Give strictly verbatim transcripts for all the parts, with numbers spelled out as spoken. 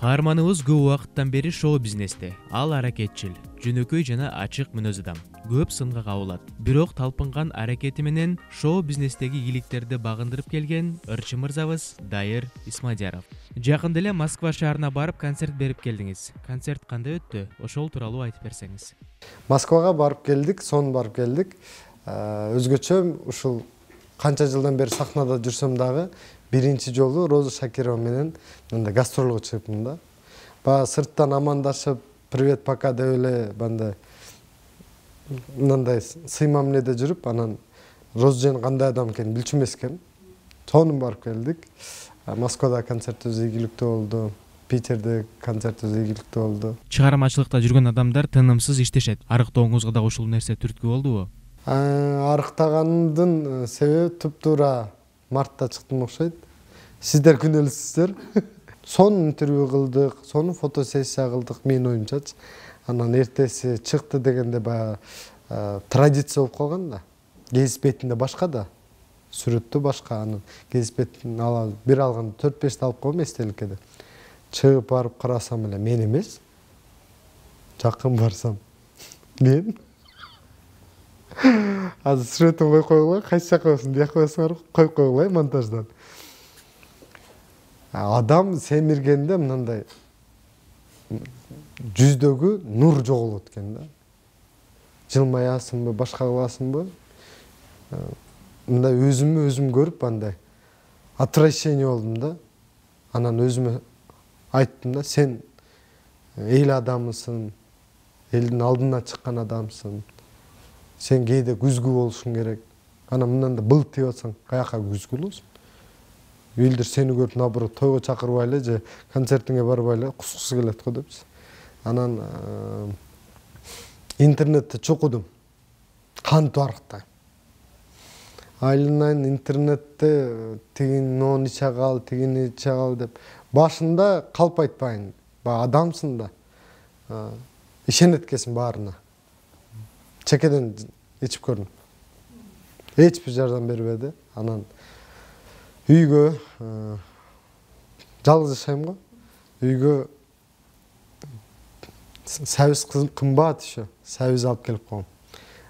Каарманыбыз көп убакыттан бери шоу бизнесте. Ал аракетчил, жөнөкөй жана ачык мүнөз адам. Көп сынга кабылат. Бирок талпынган аракети менен шоу бизнестеги ийгиликтерди багындырып келген ырчы мырзабыз Дайыр Исмадияров. Жакында эле Москва шаарына барып концерт берип келдиңиз. Концерт кандай өттү? Ошол тууралуу айтып берсеңиз. Москвага барып келдик, сон барып келдик. Өзгөчө ушул канча жылдан бери сахнада жүрсөм дагы биринчи жолу Роза Шакирова менен мындай гастролго чыгыпмын да. Баягы сырттан амандашып, привет, пока деп эле мындай мындай сый мамиледе жүрүп, анан Розжен кандай адам экенин билчү эмес экен. Сону барып келдик. Москвада концертибиз ийгиликтүү болду. Питерде концертибиз ийгиликтүү болду. Чыгармачылыкта жүргөн адамдар тынымсыз иштешет. Арыктооңузга да ушул нерсе түрткү болдубу? Арыктагандын себеби туп-туура мартта чыктым окшойт. Сиздер күнөөлүүсүздөр. Сонун интервью кылдык, сонун фотосессия кылдык менин оюмчачы. Анан эртеси чыкты дегенде баягы традиция болуп калган да. Гезит бетинде башка да. Сүрөттө башка, анан гезит бетин ала бир алганда төрт бешти алып койгом эстеликке деп. Чыгып барып карасам эле мен эмес. Жакын барсам мен. Азыр сүрөтүн коюп койгула, кайсы жакка болсун, бияка болсуңар коюп койгула монтаждан. Адам семиргенде мындай жүздөгү нур жоголот экен да. Жылмаясыңбы, башка кыласыңбы? Мындай өзүмө өзүм көрүп андай отвращение болдум да. Анан өзүмө айттым да, сен эл адамысың, элдин алдына чыккан адамсың. Сен кээде күзгү болушуң керек. Анан мындан да былт деп атсаң, каяка күзгү болосуң? Элдер сени көрүп наоборот тойго чакырбай эле же концертиңе барбай эле кускусу келет го депчи. Анан интернетте чокудум. Кантип арыктайм. Айланайын интернетте тигин нон иче кал, тигини иче кал деп. Башында калп айтпайын. Баягы адамсың да. Ишенет экенсиң баарына. Чекеден ичип көрдүм. Эч бир жардам бербеди. Анан үйгө жалгыз жашайм го. Үйгө сабиз кымбат еще. Сабиз алып келип койгом.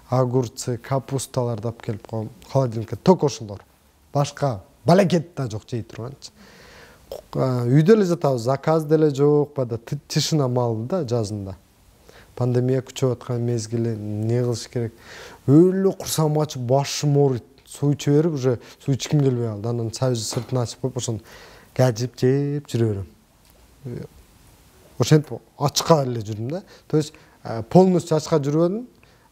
Огурцы, капусталарды алып келип койгом. Холодильникке ток ошолор. Башка балекет да жок жей турганчы. Үйдө эле жатабыз, заказ деле жок, бада тишина малды да жазында. Пандемия күчөп аткан мезгили, не кылыш керек? Өлө курсагым ачып, башым ооруйт. Суу иче берип, уже суу ичким келбей калды. Анан сабиз сыртын ачып коюп, ошону кажып жеп жүрө берем. Ошентип ачка эле жүрдүм да. То есть полностью ачка жүрбөдүм.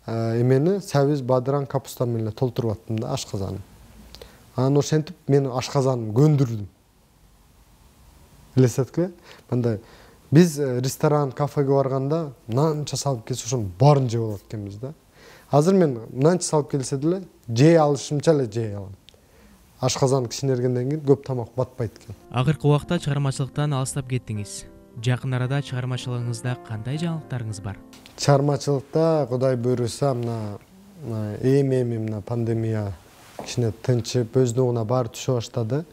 Эмени сабиз, бадыран, капуста менен толтуруп аттым да ашказанын. Анан ошентип мен ашказанымды көндүрдүм. Элестеткиле? Мындай биз ресторан, кафеге барганда нанча салып келсе, ошонун баарын жеп алат экенбиз да. Азыр мен нанча салып келсе деле жей алышымча эле жей алам. Ашказан кичинергенден кийин көп тамак батпайт экен. Акыркы убакта чыгармачылыктан алыстап кеттиңиз. Жакын арада чыгармачылыгыңызда кандай жаңылыктарыңыз бар? Чыгармачылыкта Кудай буйруса мына эми-эми мына пандемия кичине тынчып, өздүгүнө баары түшө баштады.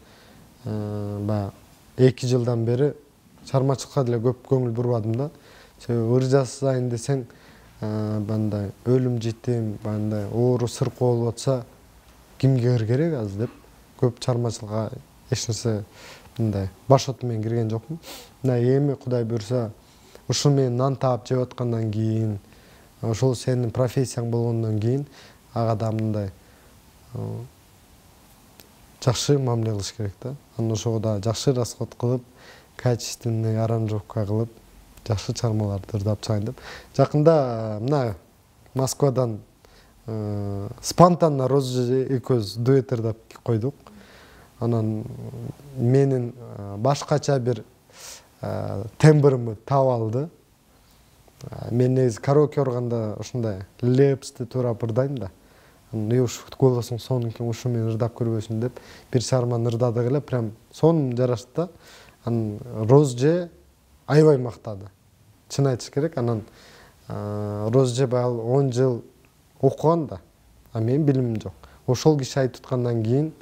Баягы эки жылдан бери чыгармачылыкка деле көп көңүл бурбадым да. Себеби ыр жасайын десең, мындай өлүм житим, мындай оору сыркоо болуп атса, кимге ыр керек азыр деп көп чыгармачылыкка эч нерсе мындай баш оту менен кирген жокмун. Мына эми Кудай буйруса, ушул менен нан таап жеп аткандан кийин, ошол сенин профессияң болгондон кийин ага да мындай жакшы мамиле кылыш керек да. Анан ошого да жакшы расход кылып, качественный аранжировка кылып, жакшы чыгармаларды ырдап чыгайын деп. Жакында мына Москвадан спонтанно Роза экөөбүз дуэт ырдап койдук. Анан менин башкача бир тембрымды таап алды. Мен негизи караоке барганда ушундай лепсти турап ырдайм да. Анан ушу голосуң сонун экен, ушу менен ырдап көрбөйсүң деп бир чыгарманы ырдадык эле, прям сонун жарашты да. Анан Розже аябай мактады. Чын айтыш керек. Анан Розже баягы он жыл окуган да, а менин билимим жок. Ошол киши айтып аткандан кийин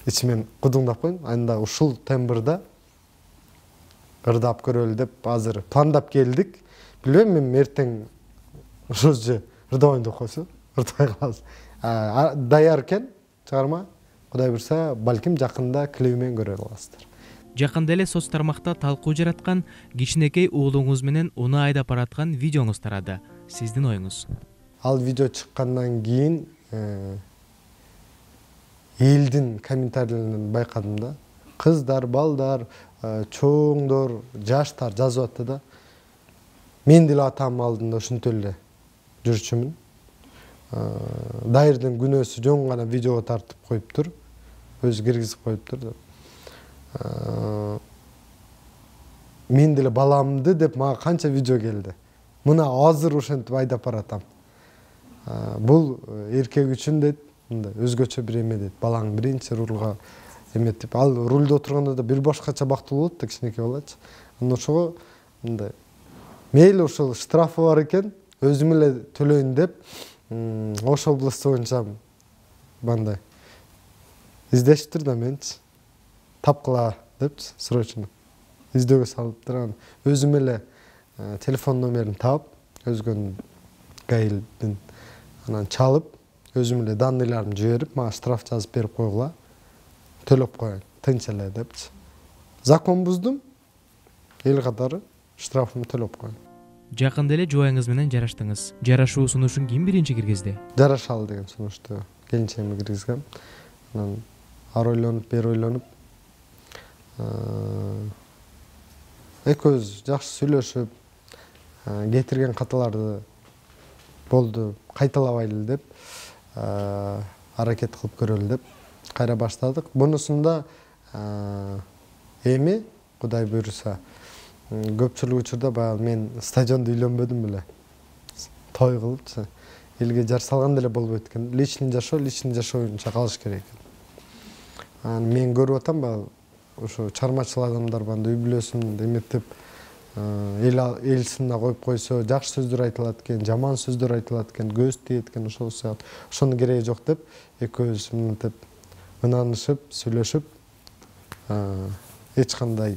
ичимен кудуңдап койдум. Анда ушул тембрда ырдап көрөлү деп азыр пландап келдик. Билбейм, мен эртең ошол же ырдабайын деп койсо ырдабай калабыз. Даяр экен чыгарма. Кудай буйрса, балким жакында клип менен көрө аласыздар. Жакында эле соц тармакта талкуу жараткан кичинекей уулуңуз менен уну айдап бараткан видеоңуз тарады. Сиздин оюңуз? Ал видео чыккандан кийин элдин комментарийлеринен байкадым да. Кыздар, балдар, чоңдор, жаштар жазып атты да. Мен деле атамдын алдында ушинтип эле жүрчүмүн. Дайырдын күнөөсү жөн гана видеого тартып коюптур. Өзү киргизип коюптур деп. Мен деле баламды деп мага канча видео келди. Мына азыр ошентип айдап баратам. Бул эркек үчүн дейт, мындай өзгөчө бир эме дейт. Балаң биринчи рулга эметип, ал рулда отурганда да бир башкача бактылуу болот да, кичинекей балачы. Анан ошого мындай мейли ошол штрафы бар экен, өзүм эле төлөйүн деп, Ош областы боюнча мындай издешиптир да менчи. Тапкыла депчи, срочно. Издөөгө салыптыр. Анан өзүм эле телефон номерин таап, өзгөнүн гаилдин анан чалып, өзүм эле данныйларын жиберип, мага штраф жазып берип койгула. Төлөп коеюн, тынч эле депчи. Закон буздум. Эл катары штрафымды төлөп коеюн. Жакында эле жубайыңыз менен жараштыңыз. Жарашуу сунушун ким биринчи киргизди? Жарашалы деген сунушту келинчегиме киргизгем. Анан ары ойлонуп, бери ойлонуп, экөөбүз жакшы сүйлөшүп, кетирген каталарды болду, кайталабайлы деп, аракет кылып көрөлү деп кайра баштадык. Бунусунда эми Кудай буйруса, көпчүлүк учурда баягы мен стадиондо үйлөнбөдүм беле. Той кылыпчы, элге жар салган деле болбойт экен. Личный жашоо, личный жашоо боюнча калыш керек экен. Анан мен көрүп атам баягы ошо чармачыл адамдар банда үй бүлөсүн эметип, эл эл сынына коюп койсо, жакшы сөздөр айтылат экен, жаман сөздөр айтылат экен, көз тиет экен, ошол сыяктуу. Ошонун кереги жок деп, экөөбүз мынтип ынанышып, сүйлөшүп, эч кандай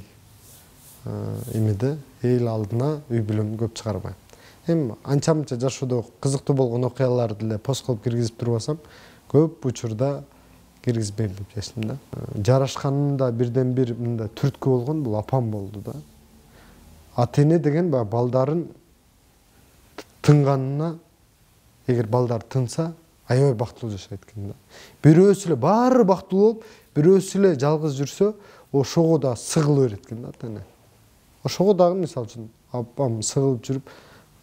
эмеде эл алдына үй бүлөмдү көп чыгарбайм. Эми анча-мынча жашоодо кызыктуу болгон окуяларды деле пост кылып киргизип турбасам, көп учурда киргизбейм деп чечтим да. Жарашканымда бирден бир мындай түрткү болгон бул апам болду да. Ата-эне деген баягы балдарын тынганына, эгер балдар тынса, аябай бактылуу жашайт экен да. Бирөөсү эле баары бактылуу болуп, бирөөсү эле жалгыз жүрсө, ошого да сыгыла берет экен да ата-эне. Ошого дагы мисалы үчүн апам сыгылып жүрүп,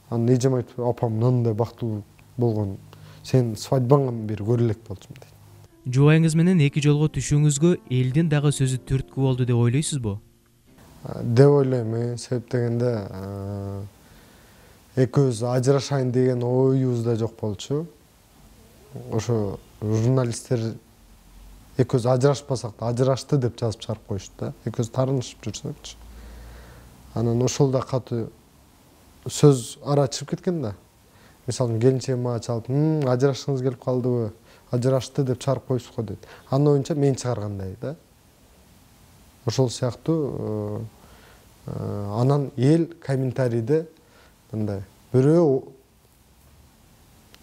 анан эжем айтып, апам мындай бактылуу болгон, сен свадьбаңан бери көрө элек болчумун дейт. Жубайыңыз менен эки жолго түшүүңүзгө элдин дагы сөзү түрткү болду деп ойлойсузбу? Деп ойлойм, себеп дегенде экөөбүз ажырашайын деген оюбуз да жок болчу. Ошо журналисттер экөөбүз ажырашпасак да ажырашты деп жазып чыгарып коюшту да. Экөөбүз таарынышып жүрсөкчү. Анан ошол да катуу сөз ара чыгып кеткен да. Мисалы келинчегим мага чалып, ажырашкыңыз келип калдыбы? Ажырашты деп чыгарып коюпсуз го дейт. Анын оюнча мен чыгаргандай да. Ошол сыяктуу анан эл комментарийде мындай бирөө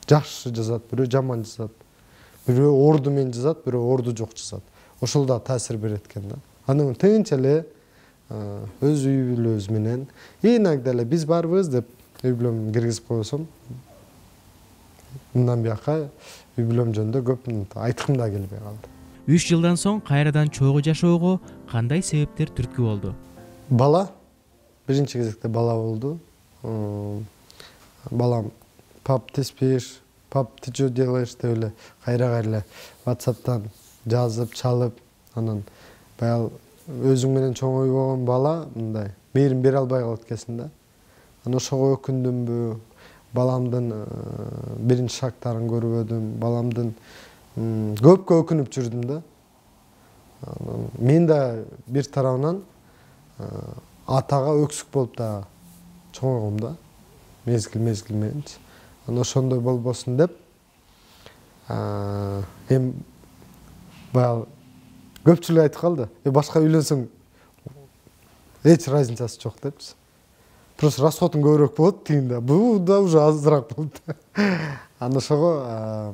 жакшы жазат, бирөө жаман жазат, бирөө орду менен жазат, бирөө орду жок жазат. Ошол да таасир берет экен да. Анан тынч эле өз үй бүлөбүз менен иногда эле биз барбыз деп үй бүлөмдү киргизип койсом, мындан бияка үй бүлөм жөнүндө көп айткым да келбей калды. үч жылдан соң кайрадан чогуу жашоого кандай себептер түрткү болду? Бала, биринчи кезекте бала болду. Балам, пап, ты спишь, пап, ты что делаешь деп эле кайра-кайра WhatsApp'тан жазып, чалып, анан баягы өзүң менен чоң ойбогон бала мындай мээрим бере албай калат экенсиң да. Анан ошого өкүндүмбү, баламдын биринчи шагтарын көрбөдүм, баламдын көпкө өкүнүп жүрдүм да. Мен да бир тарабынан атага өксүк болуп да чоңойгом да, мезгил мезгил мененчи. Анан ошондой болбосун деп, эми баягы көпчүлүк айтып калды. Башка үйлөнсөң эч разницасы жок депчи. Просто расходун көбүрөөк болот тигинде. Бул да уже азыраак болот. Аны ошого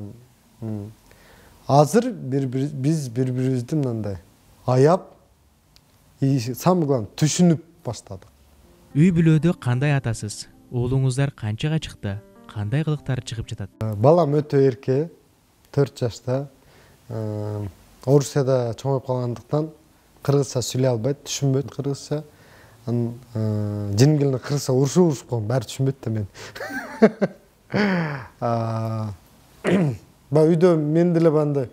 азыр биз бири-бирибизди мындай аяп, самый главный түшүнүп баштадык. Үй бүлөдө кандай атасыз? Уулуңуздар канчага чыкты? Кандай кылыктары чыгып жатат? Балам өтө эрке, төрт жашта. Орусияда чоңоюп калгандыктан кыргызча сүйлөй албайт, түшүнбөйт кыргызча. Анын жиним келине кыргызча урушуп урушуп койгон, баары түшүнбөйт да мен. Баягы үйдө мен деле бандай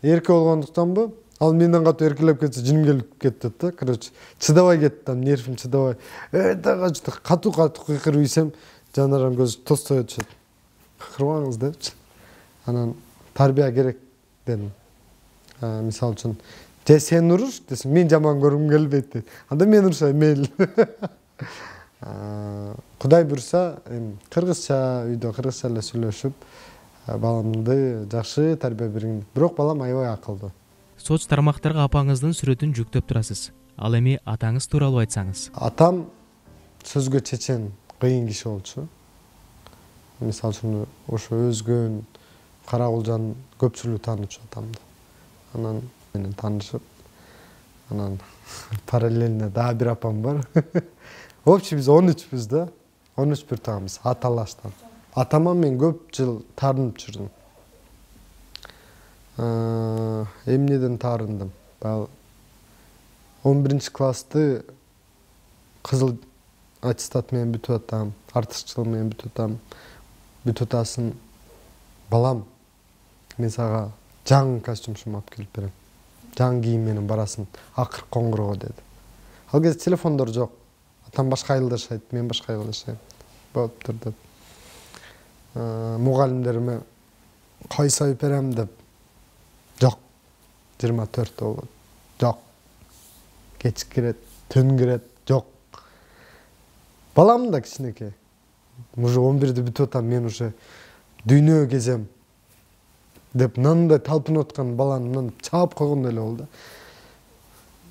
эрке болгондуктанбы, ал менден катуу эркелеп кетсе жиним келип кетет да. Короче, чыдабай кетти, нервим чыдабай. Өтө катуу-катуу кыйкырып ийсем, жанарым көз тостой өтүшөт. Кыйкырбаңыз депчи. Анан тарбия керек дедим. Мисалы үчүн, же сен уруш десем, мен жаман көргүм келбейт дейт. Анда мен урушайм, мейли. Кудай буйруса, кыргызча үйдө кыргызча эле сүйлөшүп, баламды жакшы тарбия бергем. Бирок балам аябай акылдуу. Соц тармактарга апаңыздын сүрөтүн жүктөп турасыз. Ал эми атаңыз тууралуу айтсаңыз. Атам сөзгө чечен, кыйын киши болчу. Мисалы үчүн, ошо өзгөн Карагулжан көпчүлүгү таанычу атамды. Анан менен таанышып, анан параллельно дагы бир апам бар. Общий биз он үчпүз да. он үч бир тууганбыз, аталаштан. Атама мен көп жыл таарынып жүрдүм. Эмнеден таарындым? Баягы он биринчи классты кызыл аттестат менен бүтүп атам, артыкчылык менен бүтүп атам. Бүтүп атасын, балам, мен сага жаңы костюмчум алып келип берем. Жаңы кийим менен барасың, акыркы коңгуроо деди. Ал кезде телефондор жок. Атам башка айылда жашайт, мен башка айылда жашайм. Болуптур деп. Мугалимдериме кайсы айып берем деп. Жок. жыйырма төрт болот. Жок. Кеч кирет, түн кирет, жок. Балам да кичинекей. Уже он бирде бүтүп атам, мен уже дүйнө кезем деп мындай талпынып аткан баланы мындан чаап койгондой эле болду.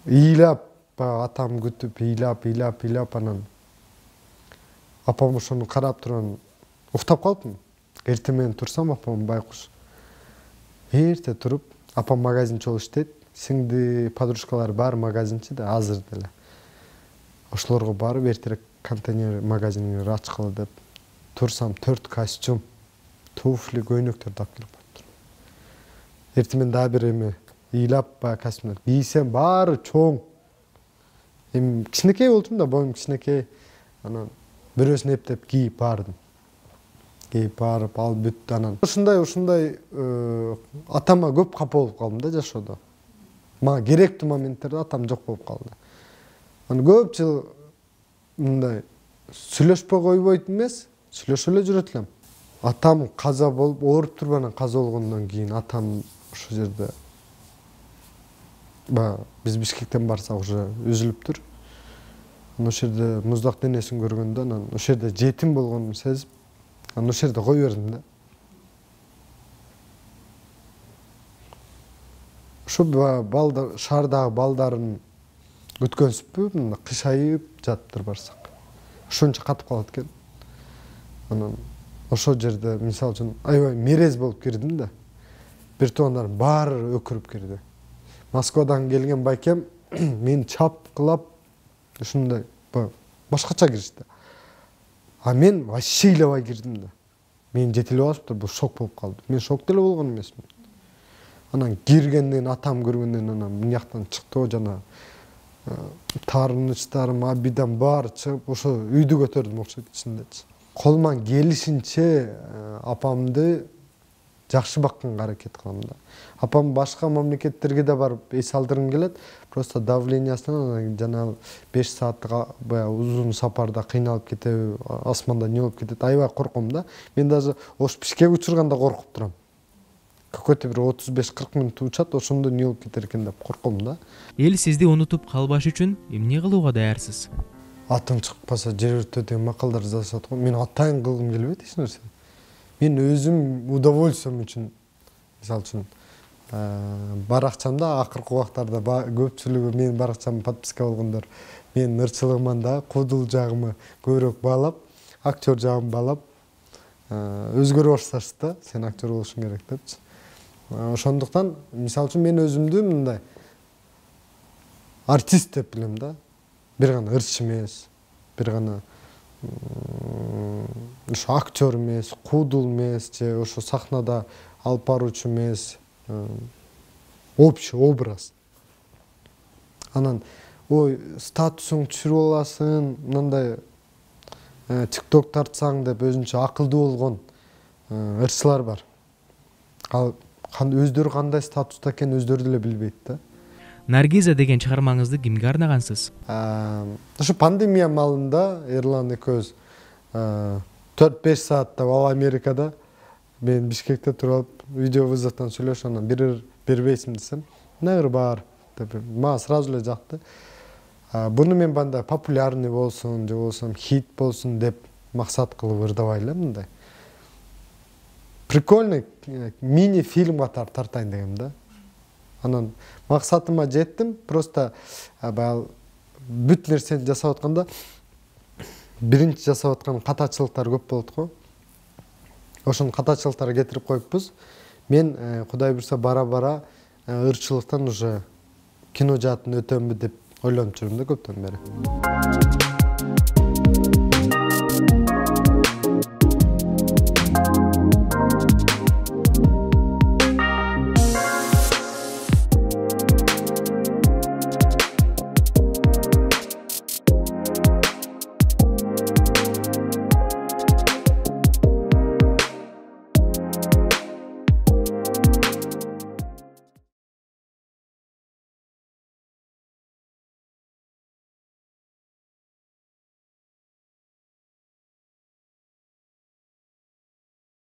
Ыйлап, атам күтүп, ыйлап, ыйлап, ыйлап анан апам ошону карап турган уктап калыптым. Эртең менен турсам, апам байкуш. Эрте туруп, апам магазинчи болуп иштейт. Сиңди подружкалары баары магазинчи да, азыр деле. Ошолорго барып эртерээк контейнер магазинин ачкылы деп турсам, төрт костюм, туфли, көйнөктөрдү алып келип коюптур. Эртең менен дагы бир эме ыйлап, баягы костюмдар кийсем, баары чоң. Эми кичинекей болчумун да, боюм кичинекей. Анан бирөөсүн эптеп кийип бардым. Кийип барып, ал бүттү анан. Ушундай, ушундай атама көп капа болуп калдым да жашоодо. Мага керектүү моменттерде атам жок болуп калды. Анан көп жыл мындай сүйлөшпөй койбойт эмес, сүйлөшө эле жүрөт элем. Атам каза болуп, ооруп туруп анан каза болгондон кийин атам ошол жерде ба биз Бишкектен барсак уже үзүлүптүр. Анан ошол жерде муздак денесин көргөндө анан ошол жерде жетим болгонун сезип, анан ошол жерде кое бердим да. Ошо балдар, шаардагы балдарын күткөнсүппү, мында кышайып жатыптыр барсак. Ошончо катып калат экен. Анан ошол жерде мисалы үчүн аябай мерез болуп кирдим да. Бир туугандарым баары өкүрүп кирди. Москвадан келген байкем мени чапкылап ушундай башкача киришти. А мен вообще ыйлабай кирдим да. Мен жетелеп алышыптыр, бул шок болуп калды. Мен шок деле болгон эмесмин. Анан киргенден атам көргөндөн анан мынияктан чыкты, жана таарынычтарым, абидан баары чыгып, ошо үйдү көтөрдүм окшойт ичиндечи. Колуман келишинче апамды жакшы бакканга аракет кылам да. Апам башка мамлекеттерге да барып эс алдыргым келет. Просто давлениясынан жана беш сааттык баягы узун сапарда кыйналып кетеби, асманда не болуп кетет, аябай корком да. Мен даже ош Бишкек учурганда коркуп турам. Какой-то бир отуз беш кырк мүнөт учат, ошондо не болуп кетер экен деп корком да. Эл сизди унутуп калбаш үчүн эмне кылууга даярсыз? Атым чыкпаса жер өртө деген макалдар жазышат го. Мен атайын кылгым келбейт эч нерсе. Мен өзүм удовольствием үчүн, мисалы үчүн, баракчамда акыркы убактарда көпчүлүгү менин баракчама подписка болгондор менин ырчылыгыман да куудул жагымы көбүрөөк баалап, актер жагымды баалап өзгөрө башташты да, сен актер болушуң керек депчи. Ошондуктан мисалы үчүн мен өзүмдү мындай артист деп билем да. Бир гана ырчы эмес, бир гана ошо актер эмес, куудул эмес же ошо сахнада алып баруучу эмес, общий образ. Анан ой статусуң түшүрүп аласың, мындай тикток тартсаң деп өзүнчө акылдуу болгон ырчылар бар. Ал өздөрү кандай статуста экенин өздөрү деле билбейт да. Наргиза деген чыгармаңызды кимге арнагансыз? Ошо пандемия маалында Эрлан экөөбүз төрт беш сааттап ал Америкада, мен Бишкекте туруп алып видео вызовдон сүйлөшүп, анан бир бербейсиң десем, негир бар деп, мага сразу эле жакты. Буну мен бандай популярный болсун же болбосо хит болсун деп максат кылып ырдабай эле, мындай прикольный мини фильм катары тартайын дегем да. Анан максатыма жеттим, просто баягы бүт нерсени жасап атканда биринчи жасап аткан катачылыктар көп болот го. Ошонун катачылыктарын кетирип коюппуз. Мен Кудай буйрса бара-бара ырчылыктан уже кино жаатын өтөмбү деп ойлонуп жүрүм да көптөн бери.